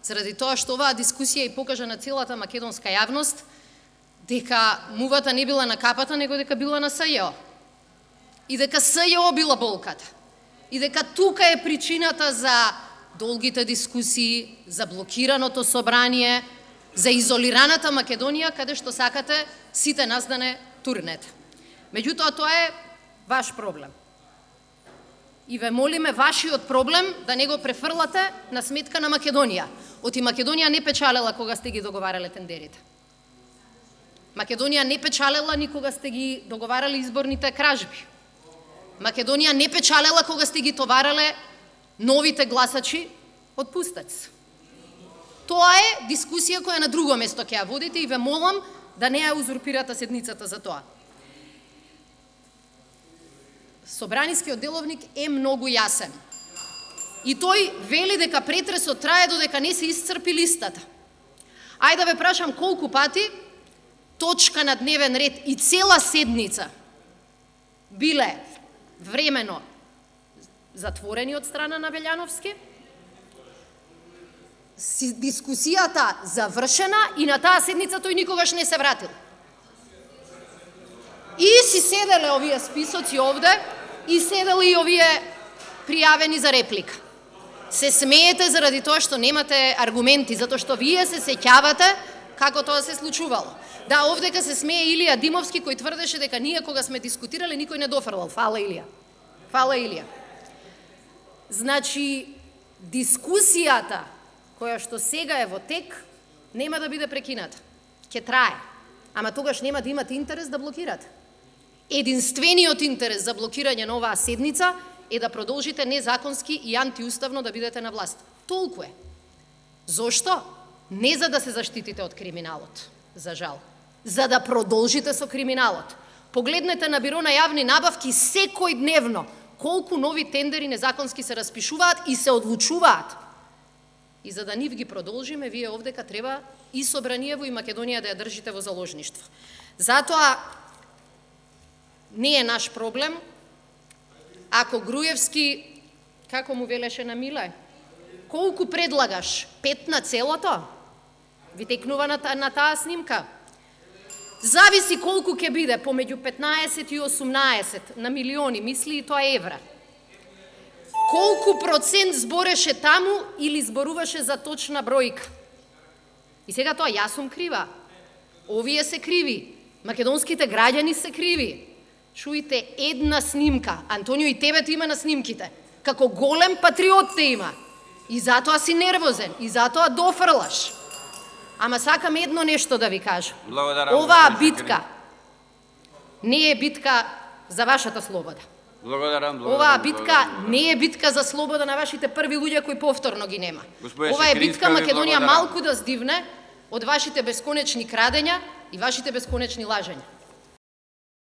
заради тоа што оваа дискусија и покажа на целата македонска јавност дека мувата не била на капата, него дека била на СЈО. И дека СЈО била болката. И дека тука е причината за долгите дискусии, за блокираното собрание, за изолираната Македонија, каде што сакате сите нас да не турнете. Меѓутоа, тоа е ваш проблем. И ве молиме вашиот проблем да не го префрлате на сметка на Македонија. Оти Македонија не печалела кога сте ги договарале тендерите. Македонија не печалела ни кога сте ги договарали изборните кражби. Македонија не печалела кога сте ги товарале новите гласачи од Пустец. Тоа е дискусија која на друго место ќе ја водите и ве молам да не ја узурпирате седницата за тоа. Собранискиот деловник е многу јасен. И тој вели дека претресот трае додека не се исцрпи листата. Ајде да ве прашам колку пати точка на дневен ред и цела седница биле времено затворени од страна на Велјановски, дискусијата завршена и на таа седница тој никогаш не се вратил. И си седеле овие списоци овде, и седели и овие пријавени за реплика. Се смеете заради тоа што немате аргументи, затоа што вие се сеќавате како тоа се случувало. Да, овдека се смее Илија Димовски, кој тврдеше дека ние кога сме дискутирали никој не дофрлал. Фала Илија. Фала Илија. Значи, дискусијата која што сега е во тек, нема да биде прекината. Ќе трае. Ама тогаш нема да имате интерес да блокирате. Единствениот интерес за блокирање на оваа седница е да продолжите незаконски и антиуставно да бидете на власт. Толку е. Зошто? Не за да се заштитите од криминалот, за жал. За да продолжите со криминалот. Погледнете на Биро на јавни набавки секој дневно колку нови тендери незаконски се распишуваат и се одлучуваат. И за да нив ги продолжиме, вие овдека треба и Собраниево и Македонија да ја држите во заложништво. Затоа не е наш проблем ако Груевски, како му велеше на Миле, колку предлагаш? 5 на целото? Ви текнува на таа снимка. Зависи колку ќе биде, помеѓу 15 и 18 на милиони, мисли и тоа евра. Колку процент збореше таму или зборуваше за точна бројка? И сега тоа, јас сум крива. Овие се криви. Македонските граѓани се криви. Чујте една снимка. Антонио, и тебе ти има на снимките. Како голем патриот те има. И затоа си нервозен. И затоа дофрлаш. Ама сакам едно нешто да ви кажам. Оваа битка не е битка за вашата слобода. Оваа битка не е битка за слобода на вашите први луѓе кои повторно ги нема. Ова е битка Македонија малку да здивне од вашите бесконечни крадења и вашите бесконечни лажења.